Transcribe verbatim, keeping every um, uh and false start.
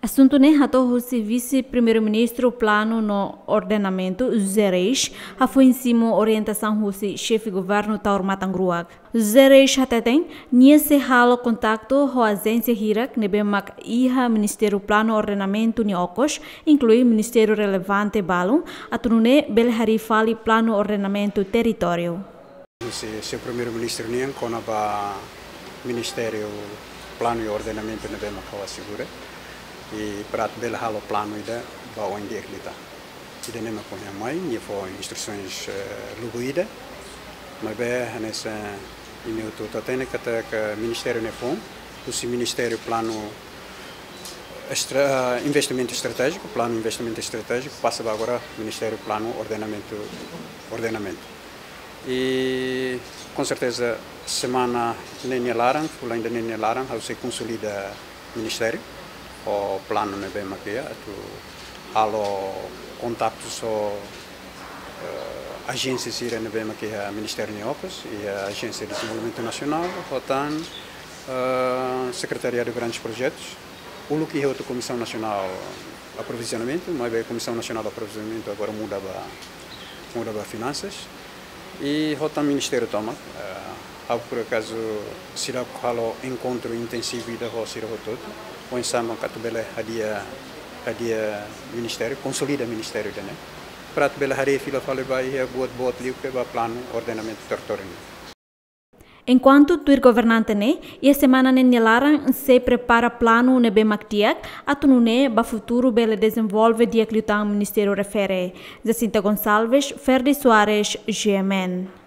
Asuntu ne'e hato'o husi Vise-Primeiru-Ministru Planu no Ordenamentu, José Reis, hafoin simu orientasaun husi Xefe Governu Taur Matan Ruak. José Reis hateten, nia sei halo kontaktu ho ajénsia hirak ne'ebé mak iha Ministériu Planu Ordenamentu nia okos, inklui ministériu relevante balun, atu nune'e bele harii fali planu ordenamentu territóriu. Husi Señór Primeiru-Ministru nian kona-ba Ministériu Planu i Ordenamentu ne'ebé mak ha'u asegura, i para atu bele halo planu ida ba oin di'ak liután. Ida-ne'e mak ohin mai, nia fó instrusaun, eh, lubuk ida, maibé hanesan imi hotu hatene katak ministériu ne'e foun husi Ministériu Planu Estra-, Investimentu Estratéjiku, Planu Investimentu Estratéjiku, pasa ba agora Ministériu Planu Ordenamentu, Ordenamentu. I, com certeza, semana ne'e nia laran, fulan ida ne'e nia laran, ha'u sei konsolida ministériu ho planu ne'ebé mak iha, atu halo kontaktu ho, eh, ajénsia sira ne'ebé mak iha ministériu nia okos, iha Ajénsia Dezenvolvimentu Nasionál, ho tan, eh, Sekretariadu Grandes Projetus, uluk iha hotu Komisaun Nasionál Aprovizionamentu, maibé Komisaun Nasionál Aprovizionamentu agora muda ba, muda ba Finansas. I ho tan ministériu tomak, eh, ha'u por akazu seidauk halo enkontru intensivu ida ho sira hotu-hotu, oinsá mak atu bele hadi'a, hadi'a ministériu, konsolida ministériu ida-ne'e, para atu bele harii fila fali ba iha buat-buat liu ke ba planu ordenamentu territóriu nian. Enkuantu tuir governante ne'e, iha semana ne'e nia laran sei prepara planu ne'ebé mak di'ak, atu nune'e ba futuru bele dezenvolve di'ak liután ministériu refere. Jacinta Gonçalves, Ferdi Soares, G M N.